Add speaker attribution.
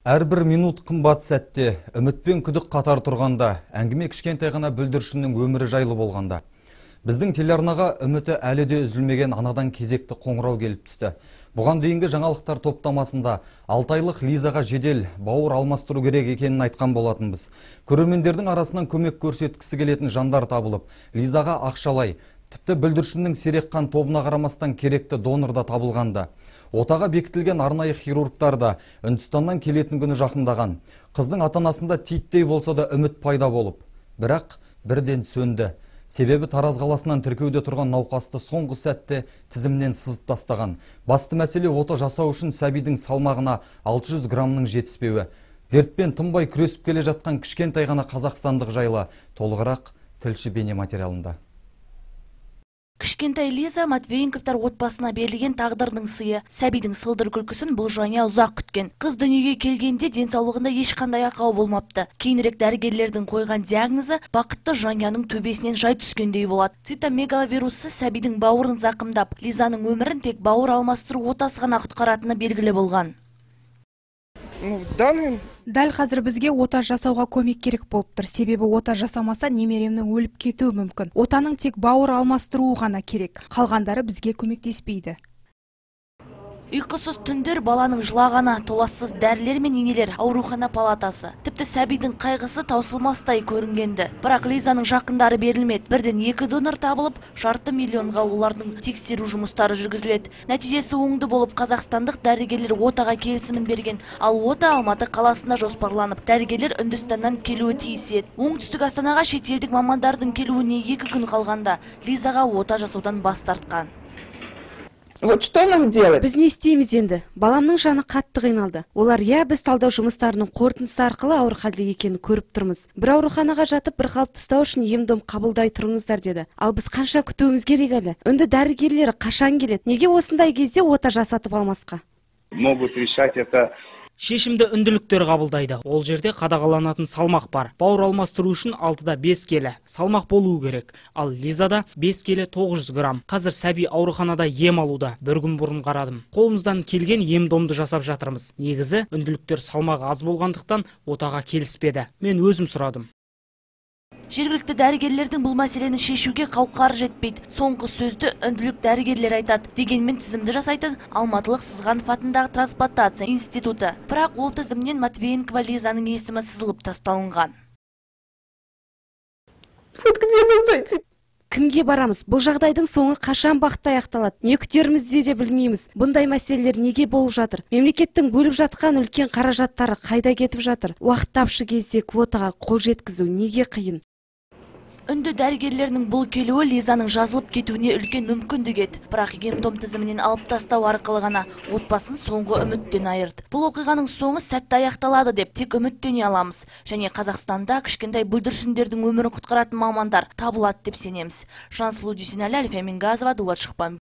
Speaker 1: Әрбір минут қымбат сәтте, үмітпен күдік қатар тұрғанда, әңгіме кішкентай ғана бүлдіршіннің өмірі жайлы болғанда. Біздің телеарнаға үміті әлі де үзілмеген анадан кезекті қоңырау келіп түсті. Бұған дейінгі жаңалықтар топтамасында 6 айлық Лизаға жедел бауыр алмастыру керек екенін айтқан болатынбыз. Көрермендердің арасынан көмек көрсеткісі келетін жандар табылып, Лизаға ақшалай, тіпті бүлдіршіннің сирек қан тобына қарамастан керекті донор да табылғанда. Отаға бекітілген арнайы хирургтар да Үндістаннан келетін күні жақындаған. Қыздың ата-анасында титтей болса да үміт пайда болып. Бірақ бірден сөнді. Себебі Тараз қаласынан тіркеуде тұрған науқасты соңғы сәтте тізімнен сызып тастаған. Басты мәселе ота жасау үшін сәбидің салмағына 600 граммның жетіспеуі. Дертпен тынбай күресіп келе жатқан кішкентай ғана қазақстандық жайлы толығырақ тілші бейне материалында.
Speaker 2: Кішкентай Лиза Матвейенковтар отбасына берілген тағдырдың сыйы. Сәбидің сылдыр күлкісін бұл жанұя ұзақ күткен. Қыз дүниеге келгенде денсаулығында ешқандай ақау болмапты. Кейінірек дәрігерлердің қойған диагнозы бақытты жанұяның төбесінен жай түскендей болады. Цитомегаловирусы сәбидің бауырын зақымдап, Лизаның өмірін тек бауыр алмастыру отасы ғана құтқаратыны белгілі болған.
Speaker 3: Дәл қазір бізге ота жасауға көмек керек болып тұр. Себебі ота жасамаса немеремнің өліп кетуі мүмкін. Отаның тек бауыр алмастыруы ғана керек. Қалғандары бізге көмектеспейді.
Speaker 2: Ұйқысыз түндер, баланың жылағаны, толассыз дәрілер мен инелер, аурухана палатасы. Тіпті сәбидің қайғысы таусылмастай көрінгенді. Бірақ Лизаның жақындары берілмеді. Бірден 2 донор табылып, $500 миллионға олардың тексеру жұмыстары жүргізіледі. Нәтижесі оңды болып, қазақстандық дәрігерлер отаға келісімін берген. Ал ота Алматы қаласында жоспарланып, дәрігерлер Үндістаннан келуі тиіс еді. Оңтүстік Астанаға шетелдік мамандардың келуіне 2 күн қалғанда Лизаға ота жасаудан бас тартқан.
Speaker 4: Вот что нам делать?
Speaker 5: Біз не істейміз енді? Баламның жаны қатты қиналды. Олар біз талдау жұмыстарының қорытындысы арқылы ауыр халде екенін көріп тұрмыз. Бір ауруханаға жатып, бір қалыпты ұстау үшін ем-дом қабылдай тұрыңыздар деді. Ал біз қанша күтуіміз керек әлі? Үнді дәрігерлері қашан келеді? Неге осындай кезде ота жасатып алмасқа?
Speaker 6: Могут решать это.
Speaker 7: Шешімді үнділіктер қабылдайды. Ол жерде қадағаланатын салмақ бар. Бауыр алмастыру үшін 6-да 5 келі салмақ болуы керек. Ал Лизада 5 келі 900 грамм. Қазір сәби ауруханада ем алуда. Бір күн бұрын қарадым. Қолымыздан келген ем-домды жасап жатырмыз. Негізі үнділіктер салмағы аз болғандықтан отаға келіспеді. Мен өзім сұрадым.
Speaker 2: Жергілікті дәрігерлердің бұл мәселені шешуге қауқары жетпейді. Соңғы сөзді үнділік дәрігерлер айтады. Дегенмен тізімді жасайтын Алматылық Сызғанов атындағы трансплантация институты. Бірақ ол тізімнен Матвейенкова Лизаның есімі сызылып тасталынған.
Speaker 5: Кімге барамыз? Бұл жағдайдың соңы қашан бақытты аяқталады? Не күтерімізде де білмейміз. Бұндай мәселелер неге болып жатыр? Мемлекеттің бөліп жатқан үлкен қаражаттары қайда кетіп жатыр? Уақыт тапшы кезде квотаға қол жеткізу неге қиын?
Speaker 2: Үнді дәрігерлерінің бұл келуі Лизаның жазылып кетуіне үлкен мүмкіндік еді. Бірақ ем-дом тізімінен алып тастау арқылы ғана отбасын соңғы үміттен айырды. Бұл оқиғаның соңы сәтті аяқталады деп тек үміттене аламыз. Және Қазақстанда кішкентай бүлдіршіндердің өмірін құтқаратын мамандар табылады деп сенеміз. Жансұлу Дүйсенәлі, Альфия Мингазова, Дулат Шықпан.